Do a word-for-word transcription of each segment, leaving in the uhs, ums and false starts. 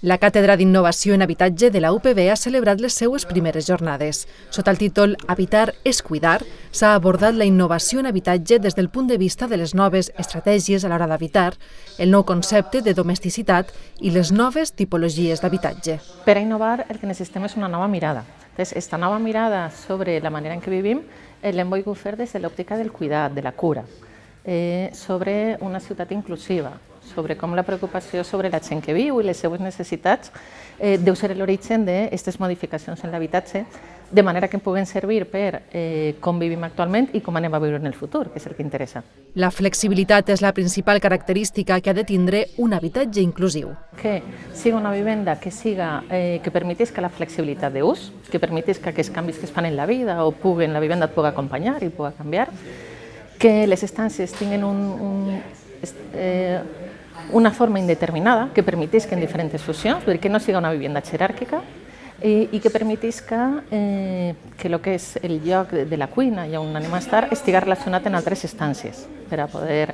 La Càtedra d'Innovació en Habitatge de la U P B ha celebrat les seues primeres jornades. Sota el títol Habitar és cuidar, s'ha abordat la innovació en habitatge des del punt de vista de les noves estratègies a l'hora d'habitar, el nou concepte de domesticitat i les noves tipologies d'habitatge. Per a innovar el que necessitem és una nova mirada. Aquesta nova mirada sobre la manera en què vivim l'hem volgut fer des de l'òptica del cuidat, de la cura, sobre una ciutat inclusiva, sobre com la preocupació sobre la gent que viu i les seues necessitats deu ser l'origen d'aquestes modificacions en l'habitatge, de manera que puguen servir per com vivim actualment i com anem a viure en el futur, que és el que interessa. La flexibilitat és la principal característica que ha de tindre un habitatge inclusiu. Que siga una vivenda que siga que permetisca la flexibilitat d'ús, que permetisca que els canvis que es fan en la vida o puguen, la vivenda et pugui acompanyar i pugui canviar, que les estàncies tinguin un, un, eh, una forma indeterminada que permetisca en diferents funcions, vull dir que no siga una vivenda jeràrquica i, i que permetisca eh, que el que és el lloc de la cuina i on anem a estar estigui relacionat amb altres estàncies per a poder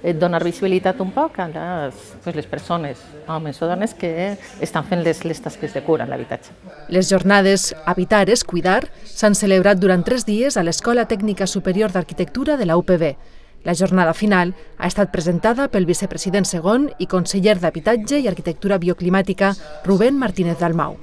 eh, donar visibilitat un poc a les, pues, les persones, homes o dones que estan fent les, les tasques de cura en l'habitatge. Les jornades Habitar és cuidar s'han celebrat durant tres dies a l'Escola Tècnica Superior d'Arquitectura de la U P B. La jornada final ha estat presentada pel vicepresident segon i conseller d'Habitatge i Arquitectura Bioclimàtica, Rubén Martínez Dalmau.